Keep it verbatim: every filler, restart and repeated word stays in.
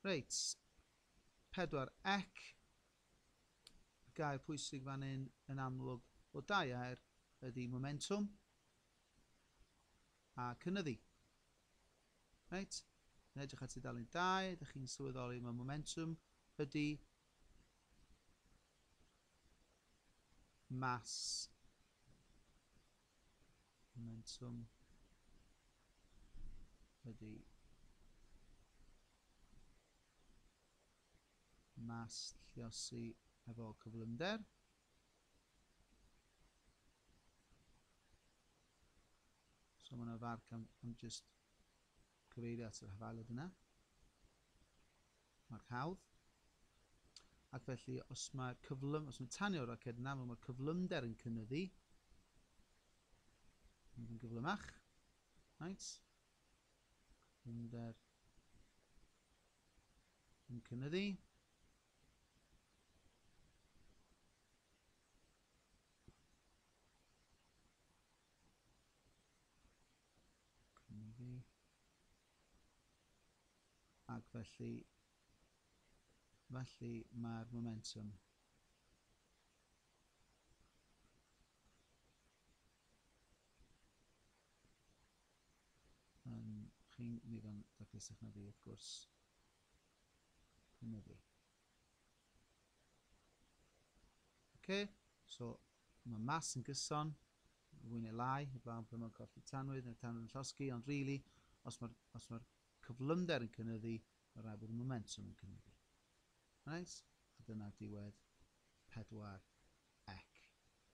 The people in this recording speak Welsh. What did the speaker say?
Reit, pedwar ec. Gair pwysig fan hyn yn amlwg o dau air ydy momentum a cynyddu. Reit, yn edrych ar tudalen dau, ydych chi'n sylweddoli mae momentum ydy mass, momentum ydy mass lluosi efo cyflymder. So mae yna farc am, am just cyfeirio at yr hafaliad yna. Marc hawdd. Ac felly, os mae'r cyflym, os mae'n tanio'r roced yna, mae'r cyflymder yn cynyddu. Yn gyflymach. Right. Cyflymder yn cynyddu. Cynyddu. Ac felly, felly mae'r momentum yn chi'n ddigon daclusach na fi, wrth gwrs, cynyddu. Okay, so mae mas yn gyson, fwy neu lai, heblaw pan mae'n colli tanwydd neu'r tanwydd yn llosgi, ond really, os mae'r os mae'r cyflymder yn cynyddu, mae rhaid bod y momentum yn cynyddu. Right? A dyna diwedd pedwar